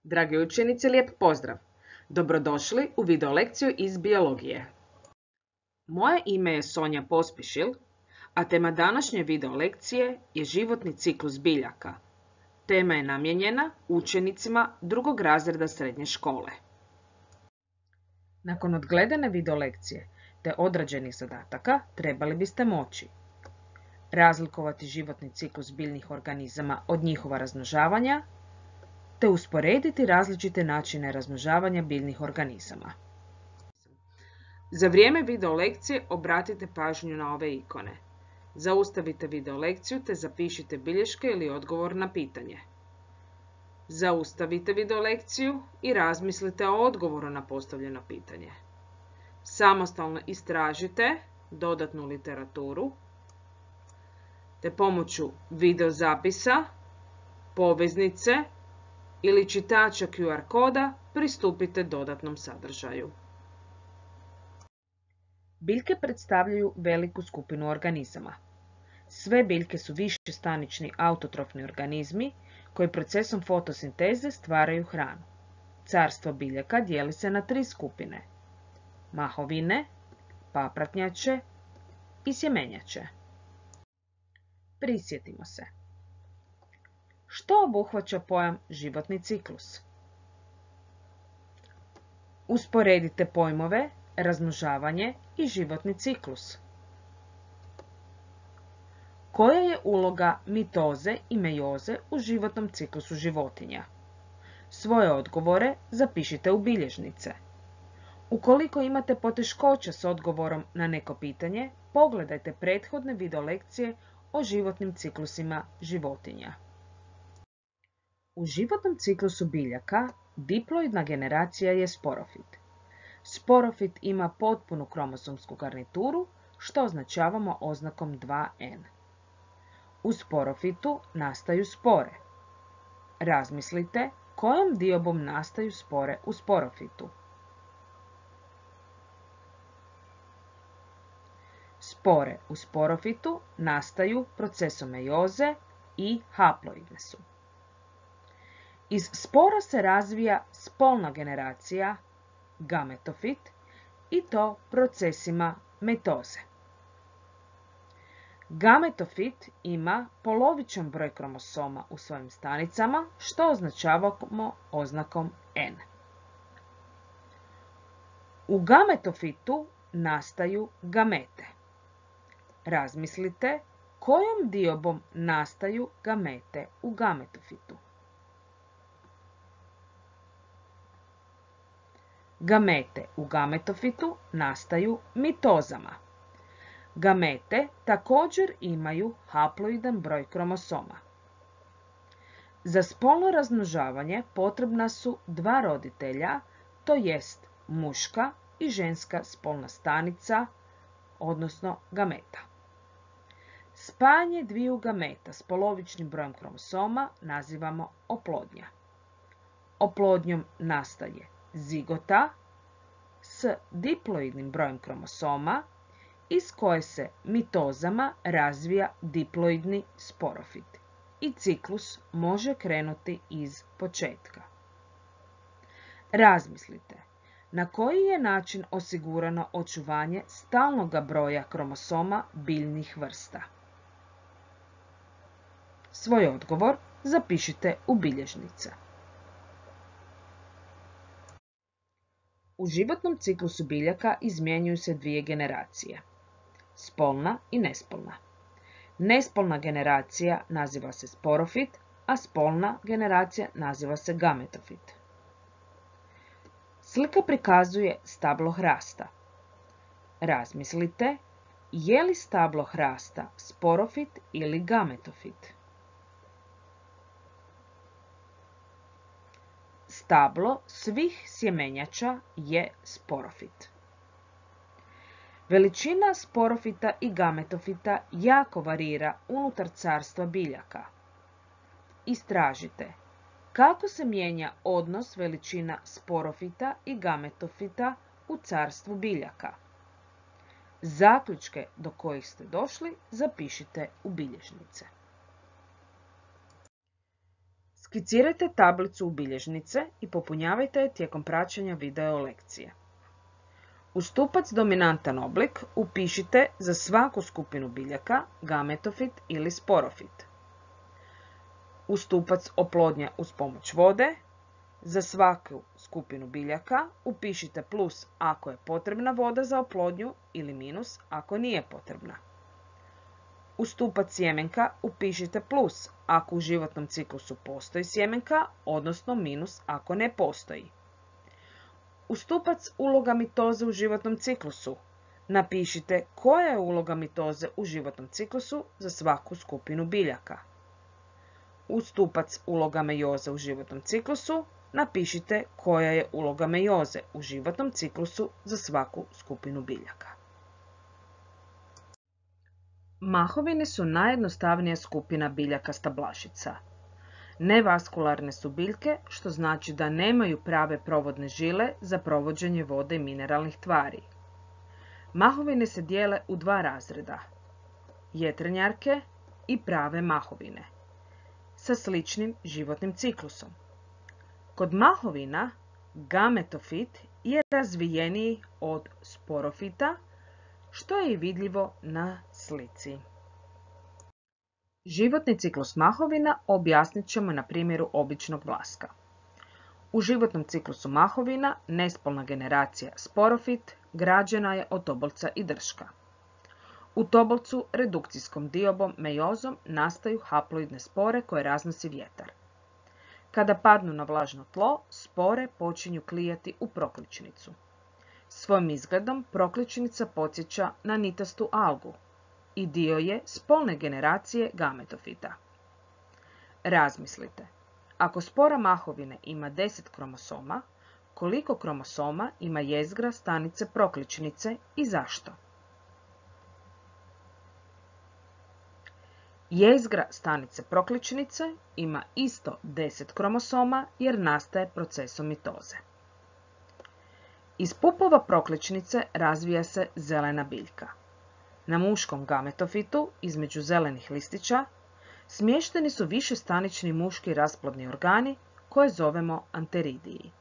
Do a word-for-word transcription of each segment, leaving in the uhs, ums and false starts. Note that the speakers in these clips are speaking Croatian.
Dragi učenici, lijep pozdrav! Dobrodošli u video lekciju iz biologije. Moje ime je Sonja Pospišil, a tema današnje video lekcije je životni ciklus biljaka. Tema je namijenjena učenicima drugog razreda srednje škole. Nakon odgledane video lekcije te odrađenih zadataka trebali biste moći razlikovati životni ciklus biljnih organizama od njihova razmnožavanja, te usporediti različite načine razmnožavanja biljnih organizama. Za vrijeme video lekcije obratite pažnju na ove ikone. Zaustavite video lekciju te zapišite bilješke ili odgovor na pitanje. Zaustavite video lekciju i razmislite o odgovoru na postavljeno pitanje. Samostalno istražite dodatnu literaturu, te pomoću video zapisa, poveznice ili čitača Q R koda pristupite dodatnom sadržaju. Biljke predstavljaju veliku skupinu organizama. Sve biljke su višestanični autotrofni organizmi koji procesom fotosinteze stvaraju hranu. Carstvo biljaka dijeli se na tri skupine: mahovine, papratnjače i sjemenjače. Prisjetimo se. Što obuhvaća pojam životni ciklus? Usporedite pojmove razmnožavanje i životni ciklus. Koja je uloga mitoze i mejoze u životnom ciklusu životinja? Svoje odgovore zapišite u bilježnice. Ukoliko imate poteškoća s odgovorom na neko pitanje, pogledajte prethodne video lekcije o životnim ciklusima životinja. U životnom ciklusu biljaka diploidna generacija je sporofit. Sporofit ima potpunu kromosomsku garnituru, što označavamo oznakom dva N. U sporofitu nastaju spore. Razmislite kojom diobom nastaju spore u sporofitu. Spore u sporofitu nastaju procesom mejoze i haploidne su. Iz spora se razvija spolna generacija, gametofit, i to procesima mitoze. Gametofit ima polovičan broj kromosoma u svojim stanicama, što označavamo oznakom N. U gametofitu nastaju gamete. Razmislite kojom diobom nastaju gamete u gametofitu. Gamete u gametofitu nastaju mitozama. Gamete također imaju haploidan broj kromosoma. Za spolno razmnožavanje potrebna su dva roditelja, to jest muška i ženska spolna stanica, odnosno gameta. Spajanje dviju gameta s polovičnim brojem kromosoma nazivamo oplodnja. Oplodnjom nastaje zigota s diploidnim brojem kromosoma iz koje se mitozama razvija diploidni sporofit i ciklus može krenuti iz početka. Razmislite na koji je način osigurano očuvanje stalnog broja kromosoma biljnih vrsta. Svoj odgovor zapišite u bilježnice. U životnom ciklusu biljaka izmjenjuju se dvije generacije, spolna i nespolna. Nespolna generacija naziva se sporofit, a spolna generacija naziva se gametofit. Slika prikazuje stablo hrasta. Razmislite, je li stablo hrasta sporofit ili gametofit? Stablo svih sjemenjača je sporofit. Veličina sporofita i gametofita jako varira unutar carstva biljaka. Istražite kako se mijenja odnos veličina sporofita i gametofita u carstvu biljaka. Zaključke do kojih ste došli zapišite u bilježnice. Skicirajte tablicu u bilježnice i popunjavajte je tijekom praćenja video lekcije. U stupac dominantan oblik upišite za svaku skupinu biljaka gametofit ili sporofit. U stupac oplodnja uz pomoć vode za svaku skupinu biljaka upišite plus ako je potrebna voda za oplodnju ili minus ako nije potrebna. U stupac sjemenka upišite plus ako u životnom ciklusu postoji sjemenka, odnosno minus ako ne postoji. U stupac uloga mitoze u životnom ciklusu napišite koja je uloga mitoze u životnom ciklusu za svaku skupinu biljaka. U stupac uloga mejoze u životnom ciklusu napišite koja je uloga mejoze u životnom ciklusu za svaku skupinu biljaka. Mahovine su najjednostavnija skupina biljaka stablašica. Nevaskularne su biljke, što znači da nemaju prave provodne žile za provođenje vode i mineralnih tvari. Mahovine se dijele u dva razreda, jetrenjarke i prave mahovine, sa sličnim životnim ciklusom. Kod mahovina gametofit je razvijeniji od sporofita, što je i vidljivo na slici. Životni ciklus mahovina objasnit ćemo na primjeru običnog vlaska. U životnom ciklusu mahovina nespolna generacija sporofit građena je od tobolca i drška. U tobolcu redukcijskom diobom mejozom nastaju haploidne spore koje raznosi vjetar. Kada padnu na vlažno tlo, spore počinju klijati u prokličnicu. Svojim izgledom prokličnica podsjeća na nitastu algu i dio je spolne generacije gametofita. Razmislite, ako spora mahovine ima deset kromosoma, koliko kromosoma ima jezgra stanice prokličnice i zašto? Jezgra stanice prokličnice ima isto deset kromosoma jer nastaje procesom mitoze. Iz pupova prokličnice razvija se zelena biljka. Na muškom gametofitu, između zelenih listića, smješteni su višestanični muški rasplodni organi koje zovemo anteridiji.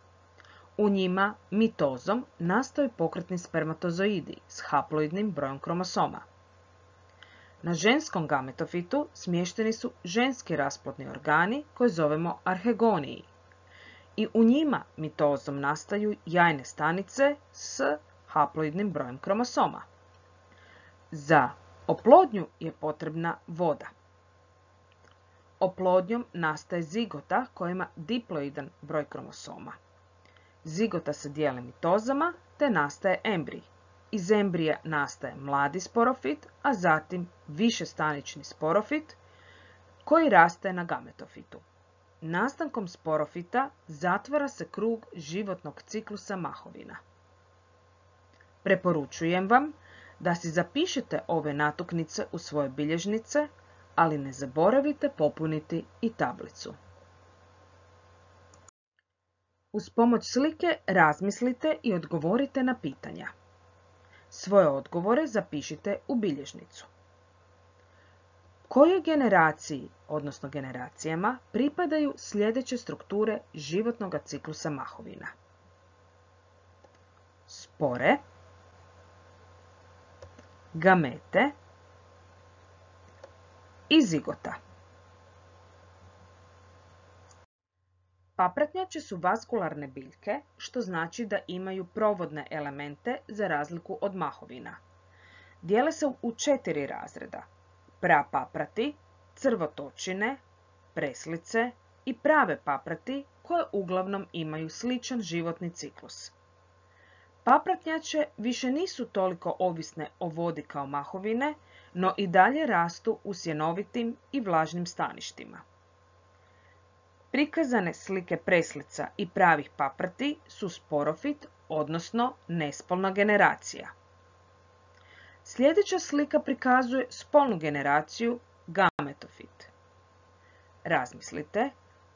U njima mitozom nastaju pokretni spermatozoidi s haploidnim brojem kromosoma. Na ženskom gametofitu smješteni su ženski rasplodni organi koje zovemo arhegoniji. I u njima mitozom nastaju jajne stanice s haploidnim brojem kromosoma. Za oplodnju je potrebna voda. Oplodnjom nastaje zigota koja ima diploidan broj kromosoma. Zigota se dijeli mitozama te nastaje embrij. Iz embrija nastaje mladi sporofit, a zatim višestanični sporofit koji raste na gametofitu. Nastankom sporofita zatvara se krug životnog ciklusa mahovina. Preporučujem vam da si zapišete ove natuknice u svoje bilježnice, ali ne zaboravite popuniti i tablicu. Uz pomoć slike razmislite i odgovorite na pitanja. Svoje odgovore zapišite u bilježnicu. Kojoj generaciji, odnosno generacijama, pripadaju sljedeće strukture životnog ciklusa mahovina? Spore, gamete i zigota. Papratnjače su vaskularne biljke, što znači da imaju provodne elemente za razliku od mahovina. Dijele se u četiri razreda: prapaprati, crvotočine, preslice i prave paprati koje uglavnom imaju sličan životni ciklus. Papratnjače više nisu toliko ovisne o vodi kao mahovine, no i dalje rastu u sjenovitim i vlažnim staništima. Prikazane slike preslica i pravih paprati su sporofit, odnosno nespolna generacija. Sljedeća slika prikazuje spolnu generaciju gametofit. Razmislite,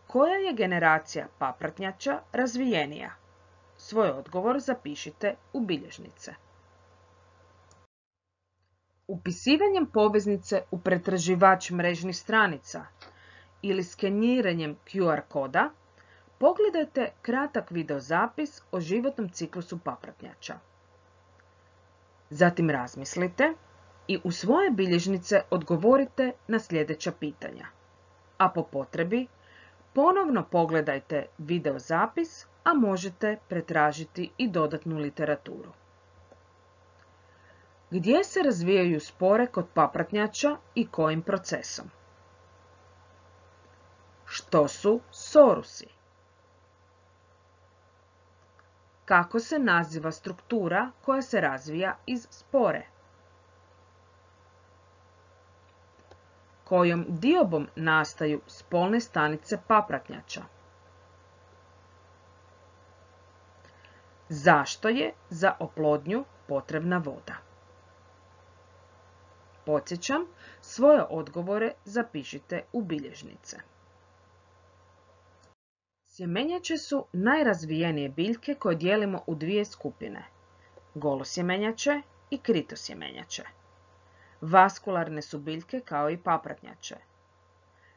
koja je generacija papratnjača razvijenija? Svoj odgovor zapišite u bilježnice. Upisivanjem poveznice u pretraživač mrežnih stranica ili skeniranjem Q R koda, pogledajte kratak videozapis o životnom ciklusu papratnjača. Zatim razmislite i u svoje bilježnice odgovorite na sljedeća pitanja. A po potrebi, ponovno pogledajte videozapis, a možete pretražiti i dodatnu literaturu. Gdje se razvijaju spore kod papratnjača i kojim procesom? Što su sorusi? Kako se naziva struktura koja se razvija iz spore? Kojom diobom nastaju spolne stanice papratnjača? Zašto je za oplodnju potrebna voda? Podsjećam, svoje odgovore zapišite u bilježnice. Sjemenjače su najrazvijenije biljke koje dijelimo u dvije skupine, golosjemenjače i kritosjemenjače. Vaskularne su biljke kao i papratnjače.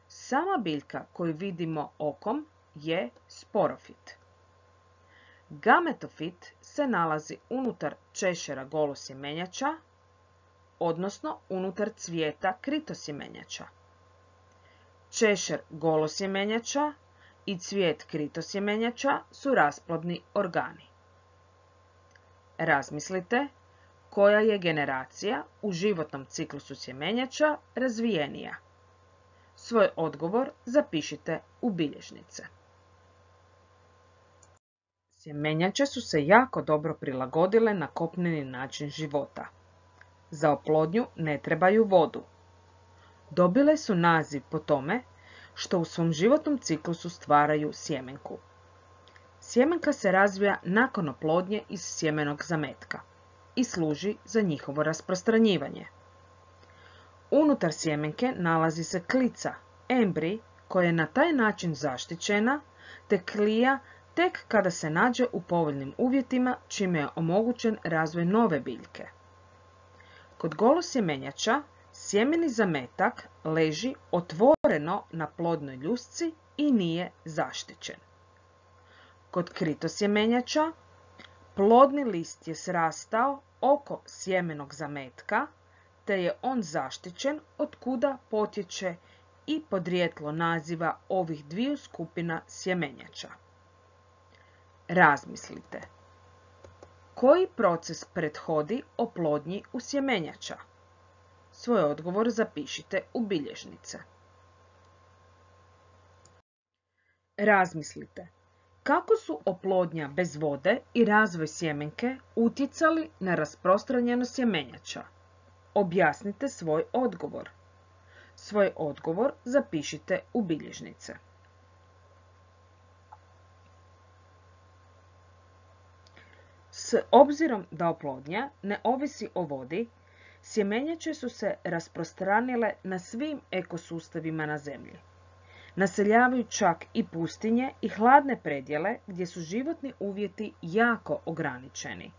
Sama biljka koju vidimo okom je sporofit. Gametofit se nalazi unutar češera golosjemenjača, odnosno unutar cvijeta kritosjemenjača. Češer golosjemenjača i cvijet kritosjemenjača su rasplodni organi. Razmislite koja je generacija u životnom ciklusu sjemenjača razvijenija. Svoj odgovor zapišite u bilježnice. Sjemenjače su se jako dobro prilagodile na kopneni način života. Za oplodnju ne trebaju vodu. Dobile su naziv po tome što u svom životnom ciklusu stvaraju sjemenku. Sjemenka se razvija nakon oplodnje iz sjemenog zametka i služi za njihovo rasprostranjivanje. Unutar sjemenke nalazi se klica, embrij, koja je na taj način zaštićena, te klija tek kada se nađe u povoljnim uvjetima, čime je omogućen razvoj nove biljke. Kod golosjemenjača sjemeni zametak leži otvoreno na plodnoj ljusci i nije zaštićen. Kod kritosjemenjača plodni list je srastao oko sjemenog zametka, te je on zaštićen, od kuda potječe i podrijetlo naziva ovih dviju skupina sjemenjača. Razmislite. Koji proces prethodi oplodnji u sjemenjača? Svoj odgovor zapišite u bilježnice. Razmislite. Kako su oplodnja bez vode i razvoj sjemenke utjecali na rasprostranjenost sjemenjača? Objasnite svoj odgovor. Svoj odgovor zapišite u bilježnice. S obzirom da oplodnja ne ovisi o vodi, sjemenjače su se rasprostranile na svim ekosustavima na zemlji. Naseljavaju čak i pustinje i hladne predjele gdje su životni uvjeti jako ograničeni.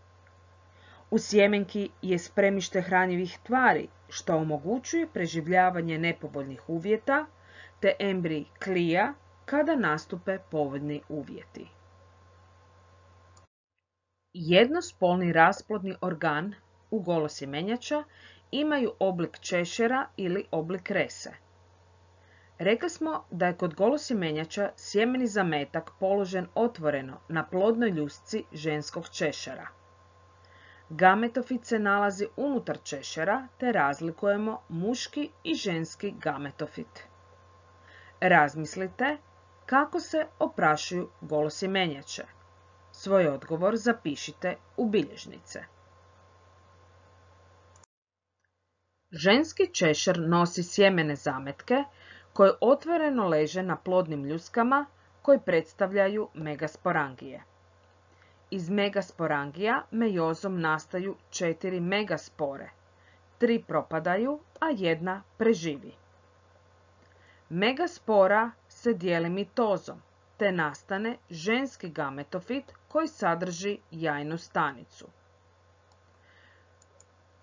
U sjemenki je spremište hranjivih tvari, što omogućuje preživljavanje nepovoljnih uvjeta, te embrij klija kada nastupe povoljni uvjeti. Jednospolni rasplodni organ u golosjemenjača imaju oblik češera ili oblik rese. Rekli smo da je kod golosjemenjača sjemeni zametak položen otvoreno na plodnoj ljusci ženskog češera. Gametofit se nalazi unutar češera, te razlikujemo muški i ženski gametofit. Razmislite kako se oprašuju golosjemenjače. Svoj odgovor zapišite u bilježnice. Ženski češer nosi sjemene zametke koje otvoreno leže na plodnim ljuskama koji predstavljaju megasporangije. Iz megasporangija mejozom nastaju četiri megaspore, tri propadaju, a jedna preživi. Megaspora se dijeli mitozom, te nastane ženski gametofit koji sadrži jajnu stanicu.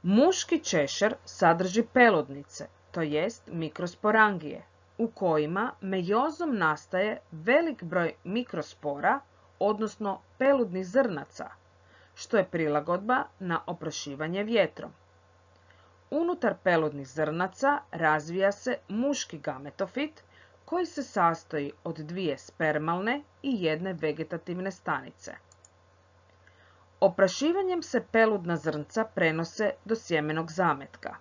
Muški češer sadrži peludnice, to jest mikrosporangije, u kojima mejozom nastaje velik broj mikrospora, odnosno peludnih zrnaca, što je prilagodba na oprašivanje vjetrom. Unutar peludnih zrnaca razvija se muški gametofit koji se sastoji od dvije spermalne i jedne vegetativne stanice. Oprašivanjem se peludna zrnca prenose do sjemenog zametka.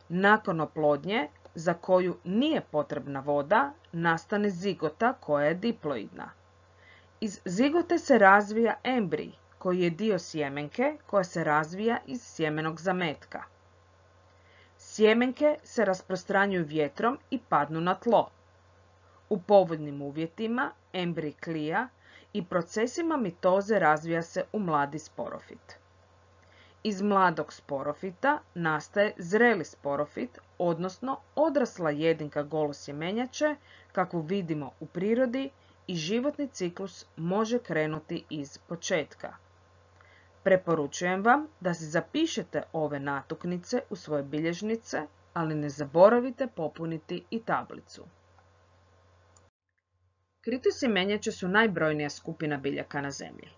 Nakon oplodnje, za koju nije potrebna voda, nastane zigota koja je diploidna. Iz zigote se razvija embrij, koji je dio sjemenke koja se razvija iz sjemenog zametka. Sjemenke se rasprostranjuju vjetrom i padnu na tlo. U povoljnim uvjetima embrij klija i procesima mitoze razvija se u mladi sporofit. Iz mladog sporofita nastaje zreli sporofit, odnosno odrasla jedinka golosjemenjače, kakvu vidimo u prirodi, i životni ciklus može krenuti iz početka. Preporučujem vam da si zapišete ove natuknice u svoje bilježnice, ali ne zaboravite popuniti i tablicu. Kritosjemenjače su najbrojnija skupina biljaka na zemlji.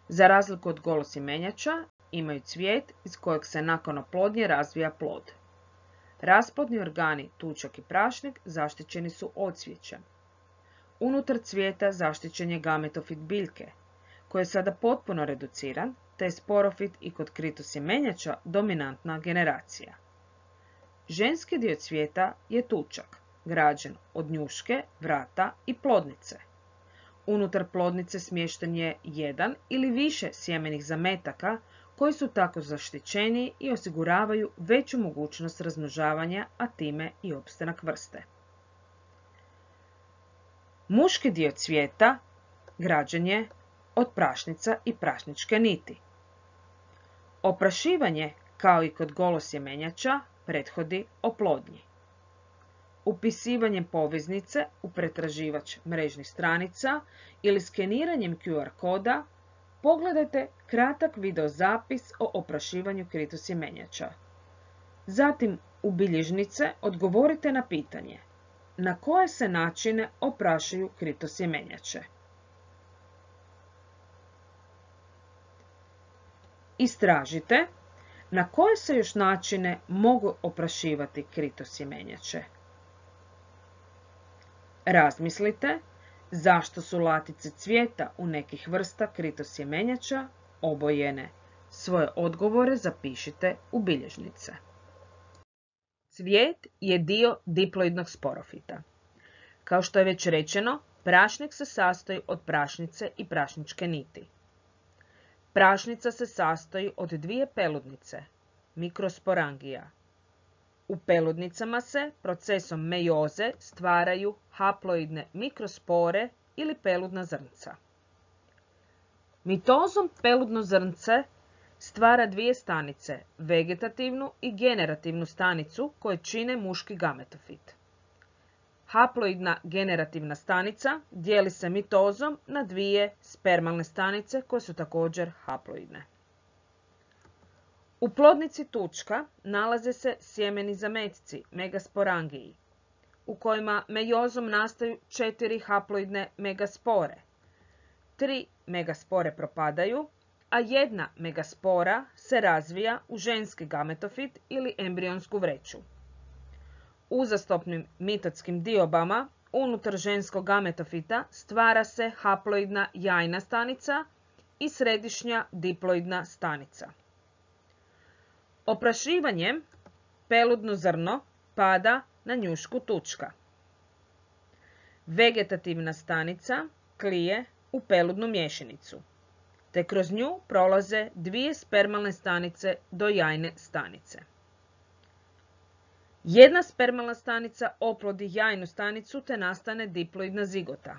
Za razliku od golosjemenjača, imaju cvijet iz kojeg se nakon oplodnje razvija plod. Rasplodni organi, tučak i prašnik, zaštićeni su odsvijećem. Unutar cvijeta zaštićen je gametofit biljke, koji je sada potpuno reduciran, te je sporofit i kod kritosjemenjača dominantna generacija. Ženski dio cvijeta je tučak, građen od njuške, vrata i plodnice. Unutar plodnice smješten je jedan ili više sjemenih zametaka koji su tako zaštićeni i osiguravaju veću mogućnost razmnožavanja, a time i opstanak vrste. Muški dio cvijeta građen je od prašnica i prašničke niti. Oprašivanje, kao i kod golosjemenjača, prethodi oplodnji. Upisivanjem poveznice u pretraživač mrežnih stranica ili skeniranjem Q R koda pogledajte kratak videozapis o oprašivanju kritosjemenjača. Zatim u bilježnice odgovorite na pitanje na koje se načine oprašuju kritosjemenjače. Istražite na koje se još načine mogu oprašivati kritosjemenjače. Razmislite zašto su latice cvijeta u nekih vrsta kritosjemenjača obojene. Svoje odgovore zapišite u bilježnice. Cvijet je dio diploidnog sporofita. Kao što je već rečeno, prašnik se sastoji od prašnice i prašničke niti. Prašnica se sastoji od dvije peludnice, mikrosporangija. U peludnicama se procesom mejoze stvaraju haploidne mikrospore ili peludna zrnca. Mitozom peludno zrnce stvara dvije stanice, vegetativnu i generativnu stanicu koje čine muški gametofit. Haploidna generativna stanica dijeli se mitozom na dvije spermalne stanice koje su također haploidne. U plodnici tučka nalaze se sjemeni zametci, megasporangiji, u kojima mejozom nastaju četiri haploidne megaspore. Tri megaspore propadaju, a jedna megaspora se razvija u ženski gametofit ili embrionsku vreću. Uzastopnim mitotskim diobama unutar ženskog gametofita stvara se haploidna jajna stanica i središnja diploidna stanica. Oprašivanjem peludno zrno pada na njušku tučka. Vegetativna stanica klije u peludnu mješinicu, te kroz nju prolaze dvije spermalne stanice do jajne stanice. Jedna spermalna stanica oplodi jajnu stanicu te nastane diploidna zigota.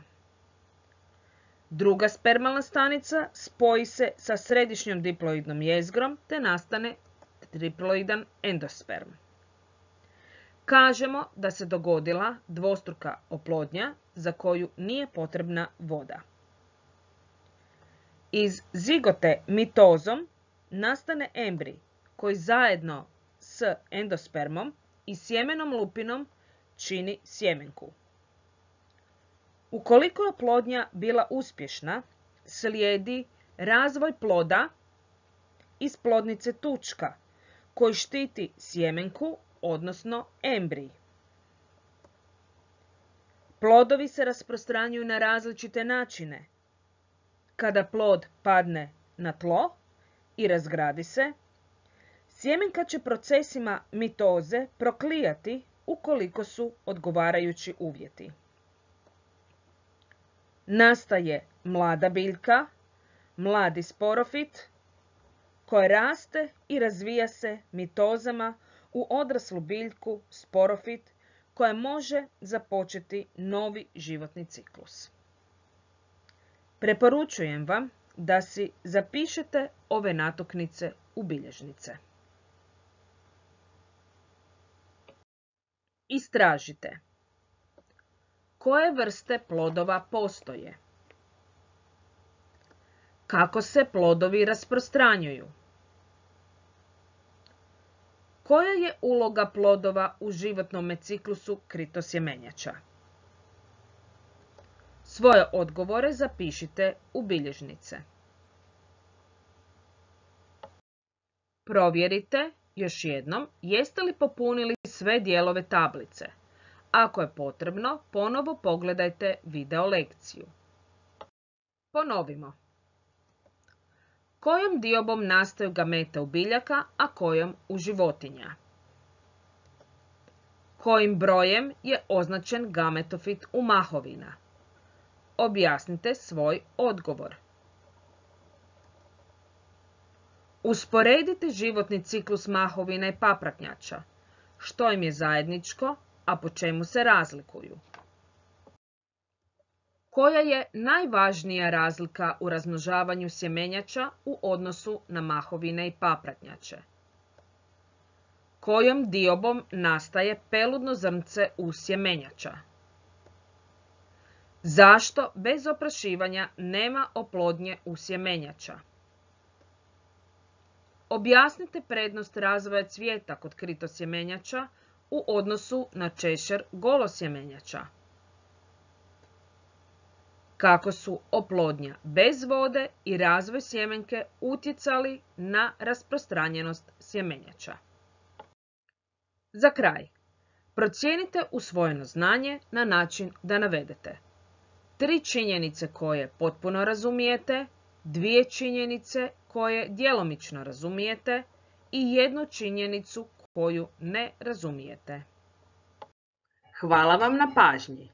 Druga spermalna stanica spoji se sa središnjom diploidnom jezgrom te nastane triploidan endosperm. Kažemo da se dogodila dvostruka oplodnja za koju nije potrebna voda. Iz zigote mitozom nastane embrij koji zajedno s endospermom i sjemenom lupinom čini sjemenku. Ukoliko je oplodnja bila uspješna, slijedi razvoj ploda iz plodnice tučka koji štiti sjemenku, odnosno embrij. Plodovi se rasprostranjuju na različite načine. Kada plod padne na tlo i razgradi se, sjemenka će procesima mitoze proklijati ukoliko su odgovarajući uvjeti. Nastaje mlada biljka, mladi sporofit, koja raste i razvija se mitozama u odraslu biljku, sporofit, koja može započeti novi životni ciklus. Preporučujem vam da si zapišete ove natuknice u bilježnice. Istražite. Koje vrste plodova postoje? Kako se plodovi rasprostranjuju? Koja je uloga plodova u životnom ciklusu kritosjemenjača? Svoje odgovore zapišite u bilježnice. Provjerite još jednom jeste li popunili sve dijelove tablice. Ako je potrebno, ponovo pogledajte video lekciju. Ponovimo. Kojom diobom nastaju gamete u biljaka, a kojom u životinja? Kojim brojem je označen gametofit u mahovina? Objasnite svoj odgovor. Usporedite životni ciklus mahovina i papratnjača. Što im je zajedničko, a po čemu se razlikuju? Koja je najvažnija razlika u razmnožavanju sjemenjača u odnosu na mahovine i papratnjače? Kojom diobom nastaje peludno zrnce u sjemenjača? Zašto bez oprašivanja nema oplodnje u sjemenjača? Objasnite prednost razvoja cvijeta kod kritosjemenjača u odnosu na češer golosjemenjača. Kako su oplodnja bez vode i razvoj sjemenke utjecali na rasprostranjenost sjemenjača. Za kraj, procijenite usvojeno znanje na način da navedete tri činjenice koje potpuno razumijete, dvije činjenice koje djelomično razumijete i jednu činjenicu koju ne razumijete. Hvala vam na pažnji.